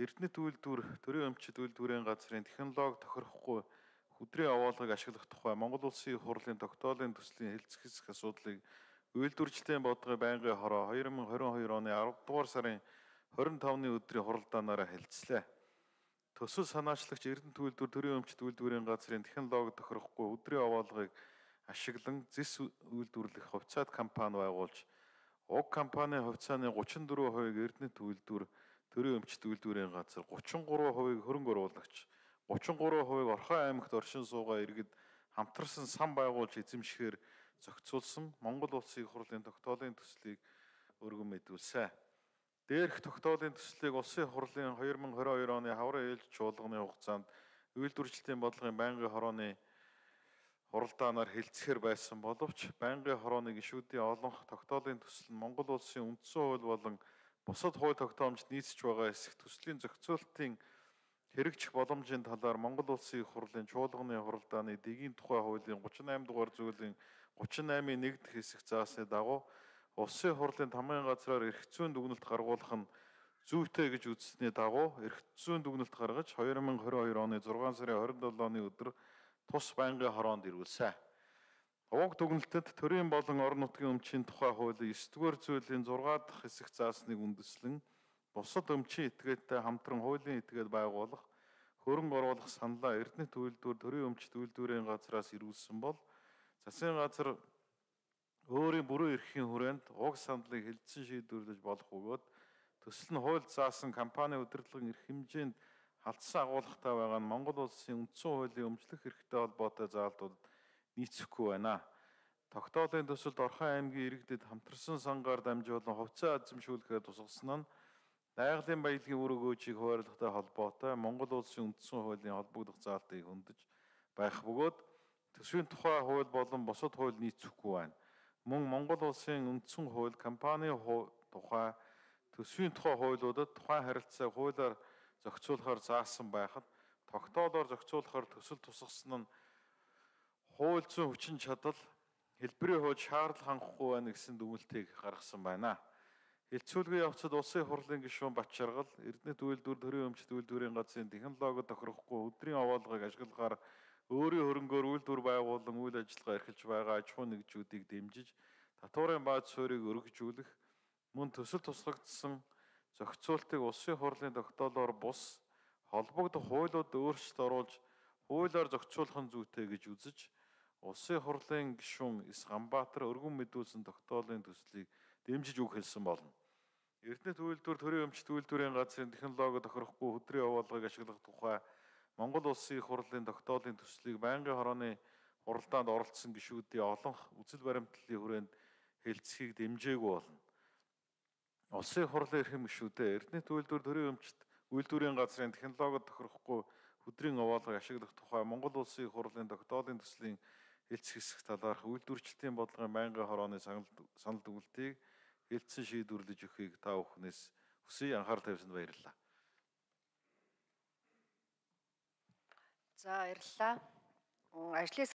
Эрдэнэт үйлдвэр, төрийн өмчит үйлдвэрийн газрын технологи тохирохгүй хөдрийн овоолгыг ашиглах тухай Монгол Улсын их хурлын тогтоолын төслийн хэлцэх хэсэх асуудлыг үйлдвэрчдийн бодлогын байнгын хороо 2022 оны 10 дугаар сарын 25-ны өдрийн хуралдаанаараа хэлцлээ. Төсөл санаачлагч Эрдэнэт үйлдвэр, төрийн өмчит үйлдвэрийн газрын технологи тохирохгүй хөдрийн овоолгыг ашиглан зис үйлдвэрлэх хувьцаат компани байгуулж, уг компанийн хувьцааны 34%-ийг Эрдэнэт үйлдвэр, төрийн өмчит үйлдвэрийн газар, 33%-ийг хөрөнгө оруулагч, 33%-ийг Орхон аймагт оршин суугаа иргэд хамтарсан сан байгуулж эзэмшихээр зохицуулсан Монгол Улсын их хурлын тогтоолын төслийг өргөн мэдүүлсэн. Дээрх тогтоолын төслийг Улсын их хурлын 2022 оны хаврын ээлж чуулганы хугацаанд үйлдвэрчдийн бодлогын байнгын хорооны хуралдаанаар хэлцэхээр байсан боловч байнгын хорооны гишүүдийн олонх тогтоолын төсөл нь Монгол Улсын үндсэн хууль болон бусад хууль тогтоомжид нийцэж байгаа эсэх төслийн зохицуулалтын хэрэгжих боломжийн талаар Монгол Улсын их хурлын чуулганы хуралдааны дэгийн тухай хуулийн 38 дугаар зүйлийн 38-ийн 1 дэх хэсэг заасны дагуу Улсын хурлын тамгын газраар эрх зүйн дүгнэлт гаргуулах нь зүйтэй гэж үзсний дагуу эрх зүйн дүгнэлт гаргаж 2022 оны 6 сарын 27-ны өдөр тус байнгын хороонд ирүүлсэн. Уг дүгнэлтэд төрийн болон орон нутгийн өмчийн тухай хуулийн 9-р зүйлийн 6 дахь хэсэг заасныг үндэслэн бусад өмчийн этгээдтэй хамтран хуулийн этгээд байгуулах, хөрөнгө оруулах саналаа Эрдэнэт үйлдвэр, төрийн өмчит үйлдвэрийн газраас ирүүлсэн бол засгийн газар өөрийн бүрэн эрхийн хүрээнд уг саналыг хэлэлцэн шийдвэрлэж болох бөгөөд төсөл нь хууль заасан компани удирдлагын эрх хэмжээнд халдсан агуулгатай байгаа нь Монгол Улсын үндсэн хуулийн өмчлөх эрхтэй холбоотой заалтуудад нийцэхгүй байна. Тогтоолын төсөлд Орхон аймгийн иргэдэд хамтарсан сангаар дамжуулан хувьцаа эзэмшүүлэхэд тусгасан нь байгалийн баялагын үр өгөөжийг хуваарлахтай холбоотой Монгол Улсын үндсэн хуулийн холбогдох заалтыг хөндөж байх бөгөөд төсвийн тухай хууль болон бусад хууль нийцэхгүй байна. Мөн Монгол Улсын үндсэн хууль, компани тухай, төсвийн тухай хуулиудад тухайн харилцааг хуулиар зохицуулахаар заасан байхад тогтоолоор зохицуулахаар төсөл тусгасан нь хууль зүйн хүчин чадал хэлбэрийн хувьд шаардлага хангахгүй байна гэсэн дүгнэлтийг гаргасан байна. Хэлцүүлгийн явцад Улсын хурлын гишүүн Батчаргал Эрдэнэт үйлдвэр, төрийн өмчит үйлдвэрийн газрын технологи тохирохгүй хөдрийн овоолгыг ашиглахаар өөрийн хөрөнгөөр үйлдвэр байгуулан үйл ажиллагаа эрхэлж байгаа аж ахуйн нэгжүүдийг дэмжиж татварын бааз суурийг өргөжүүлэх, мөн төсөл тусгагдсан зохицуултыг Улсын хурлын тогтоолоор бус холбогдох хуулиуд өөрчлөлт оруулж хуулиар зохицуулах нь зүйтэй гэж үзэж Улсын хурлын гишүүн Эс Ганбаатар өргөн мэдүүлсэн тогтоолын төслийг дэмжиж үг хэлсэн болно. Эрдэнэт үйлдвэр, төрийн өмчит үйлдвэрийн газрын технологи тохирохгүй хөдрийн овоолгыг ашиглах тухай Монгол Улсын их хурлын тогтоолын төслийг байнгын хорооны хуралдаанд оролцсон гишүүдийн олонх үзэл баримтлалын хүрээнд хэлцэхийг дэмжээгүй болно. Улсын их хурлын эрхэм гишүүдээ Эрдэнэт үйлдвэр, төрийн өмчит үйлдвэрийн газрын технологи тохирохгүй хөдрийн овоолгыг ашиглах тухай Монгол Улсын их хурлын тогтоолын төслийн хэлцэх хэсэх талаарх үйлдвэрчдийн бодлогын байнгын хорооны санал дүгнэлтийг хэлцэн шийдвэрлэж өгөхийг та бүхнээс хүсье. Анхаарал тавьсанд баярлалаа. За баярлалаа. Ажлын